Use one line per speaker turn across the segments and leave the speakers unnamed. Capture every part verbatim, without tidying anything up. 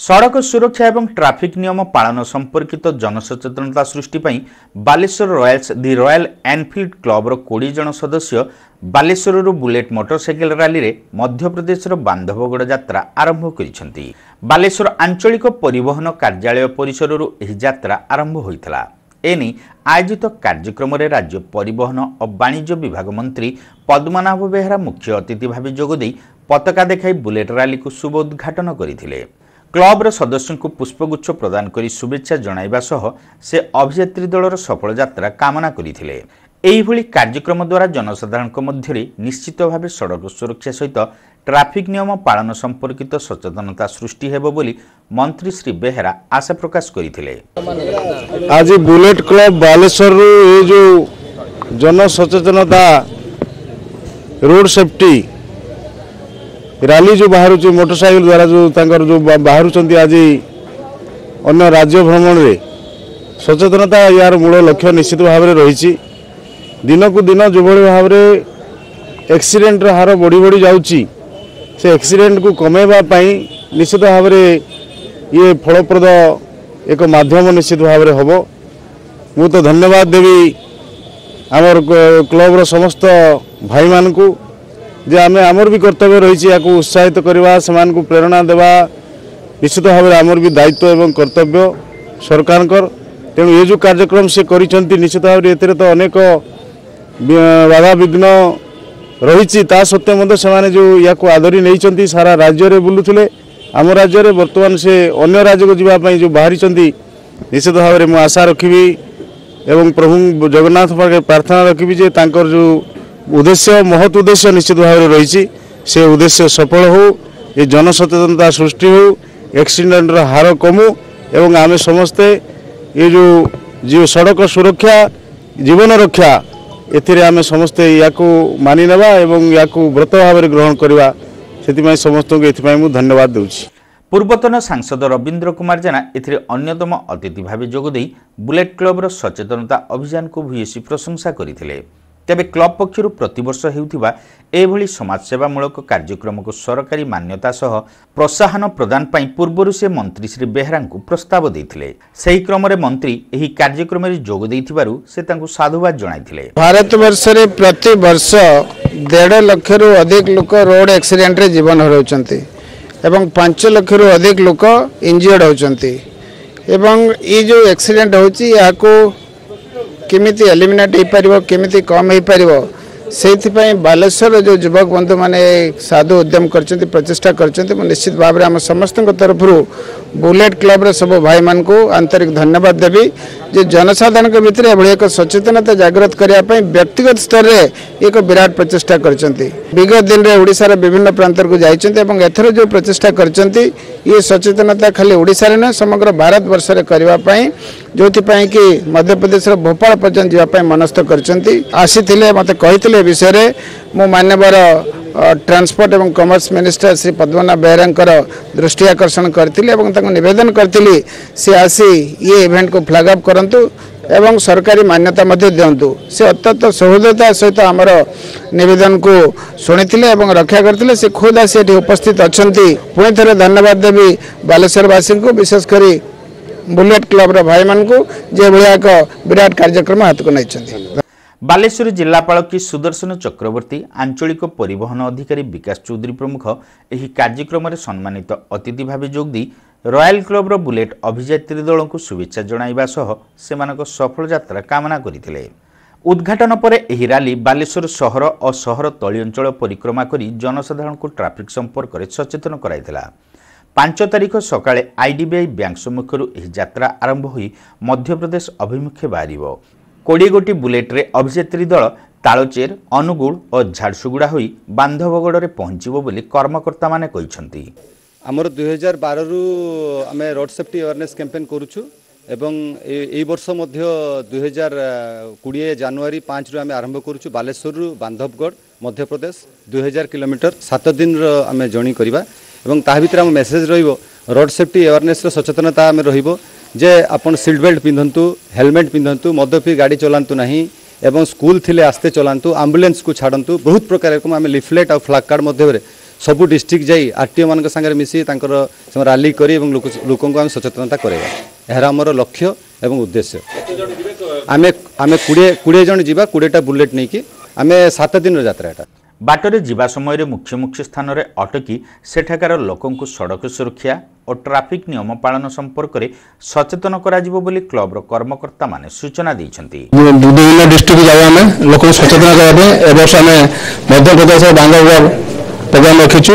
ସଡ଼କ ସୁରକ୍ଷା ଏବଂ ଟ୍ରାଫିକ୍ ନିୟମ ପାଳନ ସମ୍ପର୍କିତ ଜନସଚେତନତା ସୃଷ୍ଟି ପାଇଁ Balasore Royals the Royal Enfield କ୍ଲବର କୋଡ଼ିଏ ଜଣ ସଦସ୍ୟ ବାଲେଶ୍ୱରରୁ ବୁଲେଟ୍ ମୋଟରସାଇକେଲ ରାଲିରେ ମଧ୍ୟପ୍ରଦେଶର ବାନ୍ଧବଗଡ଼ ଯାତ୍ରା ଆରମ୍ଭ କରିଛନ୍ତି। ବାଲେଶ୍ୱର ଆଞ୍ଚଳିକ ପରିବହନ କାର୍ଯ୍ୟାଳୟ ପରିସରରୁ ଏହି ଯାତ୍ରା ଆରମ୍ଭ ହୋଇଥିଲା। ଏନେଇ ଆୟୋଜିତ କାର୍ଯ୍ୟକ୍ରମରେ ରାଜ୍ୟ ପରିବହନ ଓ ବାଣିଜ୍ୟ ବିଭାଗ ମନ୍ତ୍ରୀ ପଦ୍ମନାଭ ବେହେରା ମୁଖ୍ୟ ଅତିଥି ଭାବେ ଯୋଗଦେଇ ପତାକା ଦେଖାଇ ବୁଲେଟ୍ ରାଲିକୁ ଶୁଭ ଉଦ୍ଘାଟନ କରିଥିଲେ। କ୍ଲବର ସଦସ୍ୟଙ୍କୁ ପୁଷ୍ପଗୁଚ୍ଛ ପ୍ରଦାନ କରି ଶୁଭେଚ୍ଛା ଜଣାଇବା ସହ ସେ ଅଭିଯାତ୍ରୀ ଦଳର ସଫଳ ଯାତ୍ରା କାମନା କରିଥିଲେ। ଏହିଭଳି କାର୍ଯ୍ୟକ୍ରମ ଦ୍ୱାରା ଜନସାଧାରଣଙ୍କ ମଧ୍ୟରେ ନିଶ୍ଚିତ ଭାବେ ସଡ଼କ ସୁରକ୍ଷା ସହିତ ଟ୍ରାଫିକ୍ ନିୟମ ପାଳନ ସମ୍ପର୍କିତ ସଚେତନତା ସୃଷ୍ଟି ହେବ ବୋଲି ମନ୍ତ୍ରୀ ଶ୍ରୀ ବେହେରା ଆଶା ପ୍ରକାଶ କରିଥିଲେ।
ଆଜି ବୁଲେଟ୍ କ୍ଲବ ବାଲେଶ୍ୱରରୁ ଏ ଯେଉଁ ଜନସଚେତନତା ରୋଡ୍ ସେଫ୍ଟି ରାଲି ଯେଉଁ ବାହାରୁଛି, ମୋଟରସାଇକେଲ ଦ୍ୱାରା ଯେଉଁ ତାଙ୍କର ଯେଉଁ ବାହାରୁଛନ୍ତି ଆଜି ଅନ୍ୟ ରାଜ୍ୟ ଭ୍ରମଣରେ, ସଚେତନତା ୟାର ମୂଳ ଲକ୍ଷ୍ୟ ନିଶ୍ଚିତ ଭାବରେ ରହିଛି। ଦିନକୁ ଦିନ ଯେଉଁଭଳି ଭାବରେ ଆକ୍ସିଡେଣ୍ଟର ହାର ବଢ଼ି ବଢ଼ି ଯାଉଛି, ସେ ଆକ୍ସିଡେଣ୍ଟକୁ କମାଇବା ପାଇଁ ନିଶ୍ଚିତ ଭାବରେ ଇଏ ଫଳପ୍ରଦ ଏକ ମାଧ୍ୟମ ନିଶ୍ଚିତ ଭାବରେ ହେବ। ମୁଁ ତ ଧନ୍ୟବାଦ ଦେବି ଆମର କ୍ଲବର ସମସ୍ତ ଭାଇମାନଙ୍କୁ ଯେ ଆମେ ଆମର ବି କର୍ତ୍ତବ୍ୟ ରହିଛି ୟାକୁ ଉତ୍ସାହିତ କରିବା, ସେମାନଙ୍କୁ ପ୍ରେରଣା ଦେବା। ନିଶ୍ଚିତ ଭାବରେ ଆମର ବି ଦାୟିତ୍ୱ ଏବଂ କର୍ତ୍ତବ୍ୟ ସରକାରଙ୍କର। ତେଣୁ ଏ ଯେଉଁ କାର୍ଯ୍ୟକ୍ରମ ସେ କରିଛନ୍ତି, ନିଶ୍ଚିତ ଭାବରେ ଏଥିରେ ତ ଅନେକ ବାଧାବିଘ୍ନ ରହିଛି, ତା ସତ୍ତ୍ୱେ ମଧ୍ୟ ସେମାନେ ଯେଉଁ ୟାକୁ ଆଦରି ନେଇଛନ୍ତି, ସାରା ରାଜ୍ୟରେ ବୁଲୁଥିଲେ ଆମ ରାଜ୍ୟରେ, ବର୍ତ୍ତମାନ ସେ ଅନ୍ୟ ରାଜ୍ୟକୁ ଯିବା ପାଇଁ ଯେଉଁ ବାହାରିଛନ୍ତି, ନିଶ୍ଚିତ ଭାବରେ ମୁଁ ଆଶା ରଖିବି ଏବଂ ପ୍ରଭୁ ଜଗନ୍ନାଥ ପାଖରେ ପ୍ରାର୍ଥନା ରଖିବି ଯେ ତାଙ୍କର ଯେଉଁ ଉଦ୍ଦେଶ୍ୟ, ମହତ୍ ଉଦ୍ଦେଶ୍ୟ ନିଶ୍ଚିତ ଭାବରେ ରହିଛି, ସେ ଉଦ୍ଦେଶ୍ୟ ସଫଳ ହେଉ, ଏ ଜନସଚେତନତା ସୃଷ୍ଟି ହେଉ, ଆକ୍ସିଡେଣ୍ଟର ହାର କମୁ ଏବଂ ଆମେ ସମସ୍ତେ ଏ ଯେଉଁ ଯେଉଁ ସଡ଼କ ସୁରକ୍ଷା ଜୀବନ ରକ୍ଷା ଏଥିରେ ଆମେ ସମସ୍ତେ ୟାକୁ ମାନି ନେବା ଏବଂ ୟାକୁ ବ୍ରତ ଭାବରେ ଗ୍ରହଣ କରିବା। ସେଥିପାଇଁ ସମସ୍ତଙ୍କୁ ଏଥିପାଇଁ ମୁଁ ଧନ୍ୟବାଦ ଦେଉଛି।
ପୂର୍ବତନ ସାଂସଦ ରବୀନ୍ଦ୍ର କୁମାର ଜେନା ଏଥିରେ ଅନ୍ୟତମ ଅତିଥି ଭାବେ ଯୋଗଦେଇ ବୁଲେଟ୍ କ୍ଲବର ସଚେତନତା ଅଭିଯାନକୁ ଭୂୟସୀ ପ୍ରଶଂସା କରିଥିଲେ। ତେବେ କ୍ଲବ ପକ୍ଷରୁ ପ୍ରତିବର୍ଷ ହେଉଥିବା ଏଭଳି ସମାଜସେବାମୂଳକ କାର୍ଯ୍ୟକ୍ରମକୁ ସରକାରୀ ମାନ୍ୟତା ସହ ପ୍ରୋତ୍ସାହନ ପ୍ରଦାନ ପାଇଁ ପୂର୍ବରୁ ସେ ମନ୍ତ୍ରୀ ଶ୍ରୀ ବେହେରାଙ୍କୁ ପ୍ରସ୍ତାବ ଦେଇଥିଲେ। ସେହି କ୍ରମରେ ମନ୍ତ୍ରୀ ଏହି କାର୍ଯ୍ୟକ୍ରମରେ ଯୋଗ ଦେଇଥିବାରୁ ସେ ତାଙ୍କୁ ସାଧୁବାଦ ଜଣାଇଥିଲେ।
ଭାରତବର୍ଷରେ ପ୍ରତିବର୍ଷ ଦେଢ଼ ଲକ୍ଷରୁ ଅଧିକ ଲୋକ ରୋଡ୍ ଆକ୍ସିଡେଣ୍ଟରେ ଜୀବନ ହରାଉଛନ୍ତି ଏବଂ ପାଞ୍ଚ ଲକ୍ଷରୁ ଅଧିକ ଲୋକ ଇଞ୍ଜିଅର୍ଡ ହେଉଛନ୍ତି ଏବଂ ଏଇ ଯେଉଁ ଆକ୍ସିଡେଣ୍ଟ ହେଉଛି, ଏହାକୁ କେମିତି ଏଲିମିନେଟ୍ ହେଇପାରିବ, କେମିତି କମ୍ ହେଇପାରିବ, ସେଇଥିପାଇଁ ବାଲେଶ୍ୱରର ଯେଉଁ ଯୁବକ ବନ୍ଧୁମାନେ ସାଧୁ ଉଦ୍ୟମ କରିଛନ୍ତି, ପ୍ରଚେଷ୍ଟା କରିଛନ୍ତି, ମୁଁ ନିଶ୍ଚିତ ଭାବରେ ଆମ ସମସ୍ତଙ୍କ ତରଫରୁ ବୁଲେଟ୍ କ୍ଲବର ସବୁ ଭାଇମାନଙ୍କୁ ଆନ୍ତରିକ ଧନ୍ୟବାଦ ଦେବି ଯେ ଜନସାଧାରଣଙ୍କ ଭିତରେ ଏଭଳି ଏକ ସଚେତନତା ଜାଗ୍ରତ କରିବା ପାଇଁ ବ୍ୟକ୍ତିଗତ ସ୍ତରରେ ଏକ ବିରାଟ ପ୍ରଚେଷ୍ଟା କରିଛନ୍ତି। ବିଗତ ଦିନରେ ଓଡ଼ିଶାର ବିଭିନ୍ନ ପ୍ରାନ୍ତରକୁ ଯାଇଛନ୍ତି ଏବଂ ଏଥର ଯେଉଁ ପ୍ରଚେଷ୍ଟା କରିଛନ୍ତି, ଇଏ ସଚେତନତା ଖାଲି ଓଡ଼ିଶାରେ ନୁହେଁ, ସମଗ୍ର ଭାରତବର୍ଷରେ କରିବା ପାଇଁ, ଯେଉଁଥିପାଇଁ କି ମଧ୍ୟପ୍ରଦେଶର ଭୋପାଳ ପର୍ଯ୍ୟନ୍ତ ଯିବା ପାଇଁ ମନସ୍ଥ କରିଛନ୍ତି। ଆସିଥିଲେ, ମୋତେ କହିଥିଲେ ଏ ବିଷୟରେ। ମୁଁ ମାନ୍ୟବର ଟ୍ରାନ୍ସପୋର୍ଟ ଏବଂ କମର୍ସ ମିନିଷ୍ଟର ଶ୍ରୀ ପଦ୍ମନାଭ ବେହେରାଙ୍କର ଦୃଷ୍ଟି ଆକର୍ଷଣ କରିଥିଲି ଏବଂ ତାଙ୍କୁ ନିବେଦନ କରିଥିଲି ସେ ଆସି ଇଏ ଇଭେଣ୍ଟକୁ ଫ୍ଲାଗ୍ ଅପ୍ କରନ୍ତୁ ଏବଂ ସରକାରୀ ମାନ୍ୟତା ମଧ୍ୟ ଦିଅନ୍ତୁ। ସେ ଅତ୍ୟନ୍ତ ସହୃଦୟତା ସହିତ ଆମର ନିବେଦନକୁ ଶୁଣିଥିଲେ ଏବଂ ରକ୍ଷା କରିଥିଲେ। ସେ ଖୁଦ୍ ଆସି ଏଠି ଉପସ୍ଥିତ ଅଛନ୍ତି। ପୁଣି ଥରେ ଧନ୍ୟବାଦ ଦେବି ବାଲେଶ୍ୱରବାସୀଙ୍କୁ, ବିଶେଷ କରି ବୁଲେଟ୍ କ୍ଲବର ଭାଇମାନଙ୍କୁ, ଯେ ଏଭଳିଆ ଏକ ବିରାଟ କାର୍ଯ୍ୟକ୍ରମ ହାତକୁ ନେଇଛନ୍ତି।
ବାଲେଶ୍ୱର ଜିଲ୍ଲାପାଳ କି ସୁଦର୍ଶନ ଚକ୍ରବର୍ତ୍ତୀ, ଆଞ୍ଚଳିକ ପରିବହନ ଅଧିକାରୀ ବିକାଶ ଚୌଧୁରୀ ପ୍ରମୁଖ ଏହି କାର୍ଯ୍ୟକ୍ରମରେ ସମ୍ମାନିତ ଅତିଥି ଭାବେ ଯୋଗଦେଇ ରୟାଲ କ୍ଲବର ବୁଲେଟ୍ ଅଭିଯାତ୍ରୀ ଦଳଙ୍କୁ ଶୁଭେଚ୍ଛା ଜଣାଇବା ସହ ସେମାନଙ୍କ ସଫଳ ଯାତ୍ରା କାମନା କରିଥିଲେ। ଉଦ୍ଘାଟନ ପରେ ଏହି ରାଲି ବାଲେଶ୍ୱର ସହର ଓ ସହର ତଳି ଅଞ୍ଚଳ ପରିକ୍ରମା କରି ଜନସାଧାରଣଙ୍କୁ ଟ୍ରାଫିକ୍ ସମ୍ପର୍କରେ ସଚେତନ କରାଇଥିଲା। ପାଞ୍ଚ ତାରିଖ ସକାଳେ ଆଇଡିବିଆଇ ବ୍ୟାଙ୍କ ସମ୍ମୁଖରୁ ଏହି ଯାତ୍ରା ଆରମ୍ଭ ହୋଇ ମଧ୍ୟପ୍ରଦେଶ ଅଭିମୁଖେ ବାହାରିବ। କୋଡ଼ିଏ ଗୋଟି ବୁଲେଟ୍ରେ ଅଭିଯାତ୍ରୀ ଦଳ ତାଳଚେର, ଅନୁଗୁଳ ଓ ଝାରସୁଗୁଡ଼ା ହୋଇ ବାନ୍ଧବଗଡ଼ରେ ପହଞ୍ଚିବ ବୋଲି କର୍ମକର୍ତ୍ତାମାନେ କହିଛନ୍ତି।
ଆମର ଦୁଇହଜାର ବାରରୁ ଆମେ ରୋଡ୍ ସେଫ୍ଟି ଆୱାରନେସ୍ କ୍ୟାମ୍ପେନ୍ କରୁଛୁ ଏବଂ ଏଇ ବର୍ଷ ମଧ୍ୟ ଦୁଇହଜାର କୋଡ଼ିଏ ଜାନୁଆରୀ ପାଞ୍ଚରୁ ଆମେ ଆରମ୍ଭ କରୁଛୁ ବାଲେଶ୍ୱରରୁ ବାନ୍ଧବଗଡ଼, ମଧ୍ୟପ୍ରଦେଶ, ଦୁଇ ହଜାର କିଲୋମିଟର ସାତ ଦିନର ଆମେ ଜର୍ଣ୍ଣି କରିବା ଏବଂ ତାହା ଭିତରେ ଆମ ମେସେଜ୍ ରହିବ ରୋଡ୍ ସେଫ୍ଟି ଆୱାରନେସ୍ର ସଚେତନତା ଆମେ ରହିବ ଯେ ଆପଣ ସିଟ୍ ବେଲ୍ଟ ପିନ୍ଧନ୍ତୁ, ହେଲମେଟ୍ ପିନ୍ଧନ୍ତୁ, ମଦ ପିଇ ଗାଡ଼ି ଚଲାନ୍ତୁ ନାହିଁ ଏବଂ ସ୍କୁଲ ଥିଲେ ଆସ୍ତେ ଚଲାନ୍ତୁ, ଆମ୍ବୁଲାନ୍ସକୁ ଛାଡ଼ନ୍ତୁ। ବହୁତ ପ୍ରକାର ଏରକମ ଆମେ ଲିଫଲେଟ୍ ଆଉ ଫ୍ଲାଗ୍ କାର୍ଡ଼ ମଧ୍ୟରେ ସବୁ ଡିଷ୍ଟ୍ରିକ୍ଟ ଯାଇ ଆର୍ ଟି ଓ ମାନଙ୍କ ସାଙ୍ଗରେ ମିଶି ତାଙ୍କର ସେମାନେ ରାଲି କରି ଏବଂ ଲୋକ ଲୋକଙ୍କୁ ଆମେ ସଚେତନତା କରାଇବା, ଏହାର ଆମର ଲକ୍ଷ୍ୟ ଏବଂ ଉଦ୍ଦେଶ୍ୟ। ଆମେ ଆମେ କୋଡ଼ିଏ କୋଡ଼ିଏ ଜଣ ଯିବା, କୋଡ଼ିଏଟା ବୁଲେଟ୍ ନେଇକି ଆମେ ସାତ ଦିନର ଯାତ୍ରା ଏଟା।
ବାଟରେ ଯିବା ସମୟରେ ମୁଖ୍ୟ ମୁଖ୍ୟ ସ୍ଥାନରେ ଅଟକି ସେଠାକାର ଲୋକଙ୍କୁ ସଡ଼କ ସୁରକ୍ଷା ଓ ଟ୍ରାଫିକ୍ ନିୟମ ପାଳନ ସମ୍ପର୍କରେ ସଚେତନ କରାଯିବ ବୋଲି କ୍ଲବର କର୍ମକର୍ତ୍ତାମାନେ ସୂଚନା ଦେଇଛନ୍ତି।
ବିଭିନ୍ନ ଡିଷ୍ଟ୍ରିକ୍ଟ ଯାଉ ଆମେ ଲୋକଙ୍କୁ ସଚେତନ କରିବା ପାଇଁ। ଏ ବର୍ଷ ଆମେ ମଧ୍ୟପ୍ରଦେଶ ବାନ୍ଧବଗଡ଼ ପ୍ରୋଗ୍ରାମ ରଖିଛୁ।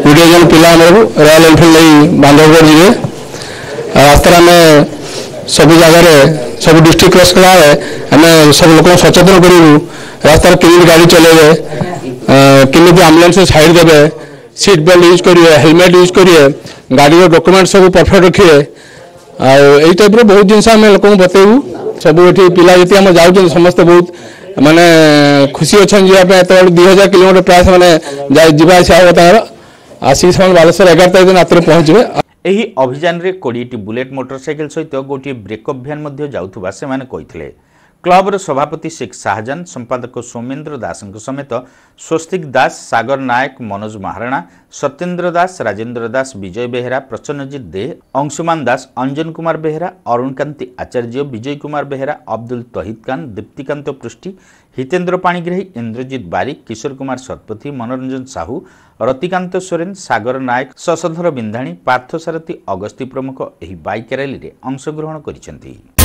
କୋଡ଼ିଏ ଜଣ ପିଲା ଆମର ରୟାଲ ଏନଫିଲ୍ଡ ନେଇ ବାନ୍ଧବଗଡ଼ ଯିବେ। ରାସ୍ତାରେ ଆମେ ସବୁ ଜାଗାରେ ସବୁ ଡିଷ୍ଟ୍ରିକ୍ଟ କ୍ରସ୍ କଲାବେଳେ ଆମେ ସବୁ ଲୋକଙ୍କୁ ସଚେତନ କରିବୁ, ରାସ୍ତାରେ କେମିତି ଗାଡ଼ି ଚଲେଇବେ, କେମିତି ଆମ୍ବୁଲାନ୍ସ ସାଇଡ୍ ଦେବେ, ସିଟ୍ ବେଲ୍ଟ ୟୁଜ୍ କରିବେ, ହେଲମେଟ୍ ୟୁଜ୍ କରିବେ, ଗାଡ଼ିର ଡକୁମେଣ୍ଟ ସବୁ ପରଫେକ୍ଟ ରଖିବେ। ଆଉ ଏଇ ଟାଇପ୍ର ବହୁତ ଜିନିଷ ଆମେ ଲୋକଙ୍କୁ ବତେଇବୁ। ସବୁ ଏଠି ପିଲା ଯେତିକି ଆମ ଯାଉଛନ୍ତି ସମସ୍ତେ ବହୁତ ମାନେ ଖୁସି ଅଛନ୍ତି ଯିବା ପାଇଁ। ଏତେବେଳେ ଦୁଇ ହଜାର କିଲୋମିଟର ପ୍ରାୟ ସେମାନେ ଯିବା ଆସିବା ହେବ ତାଙ୍କର। ଆସିକି ସେମାନେ ବାଲେଶ୍ୱର ଏଗାର ତାରିଖ ଦିନ ରାତିରେ ପହଞ୍ଚିବେ।
ଏହି ଅଭିଯାନରେ କୋଡ଼ିଏଟି ବୁଲେଟ୍ ମୋଟରସାଇକେଲ ସହିତ ଗୋଟିଏ ବ୍ରେକଅପ୍ ଭ୍ୟାନ୍ ମଧ୍ୟ ଯାଉଥିବା ସେମାନେ କହିଥିଲେ। କ୍ଲବର ସଭାପତି ଶେଖ ଶାହଜାନ, ସମ୍ପାଦକ ସୌମେନ୍ଦ୍ର ଦାସଙ୍କ ସମେତ ସ୍ୱସ୍ତିକ ଦାସ, ସାଗର ନାୟକ, ମନୋଜ ମହାରଣା, ସତ୍ୟେନ୍ଦ୍ର ଦାସ, ରାଜେନ୍ଦ୍ର ଦାସ, ବିଜୟ ବେହେରା, ପ୍ରସନ୍ନଜିତ ଦେ, ଅଂଶୁମାନ ଦାସ, ଅଞ୍ଜନ କୁମାର ବେହେରା, ଅରୁଣକାନ୍ତି ଆଚାର୍ଯ୍ୟ, ବିଜୟ କୁମାର ବେହେରା, ଅବଦୁଲ ତହିଦ ଖାନ, ଦୀପ୍ତିକାନ୍ତ ପୃଷ୍ଟି, ହିତେନ୍ଦ୍ର ପାଣିଗ୍ରାହୀ, ଇନ୍ଦ୍ରଜିତ ବାରିକ, କିଶୋର କୁମାର ଶତପଥୀ, ମନୋରଞ୍ଜନ ସାହୁ, ରତିକାନ୍ତ ସୋରେନ, ସାଗର ନାୟକ, ଶଶଧର ବିନ୍ଧାଣୀ, ପାର୍ଥସାରଥୀ ଅଗସ୍ତି ପ୍ରମୁଖ ଏହି ବାଇକ୍ ରାଲିରେ ଅଂଶଗ୍ରହଣ କରିଛନ୍ତି।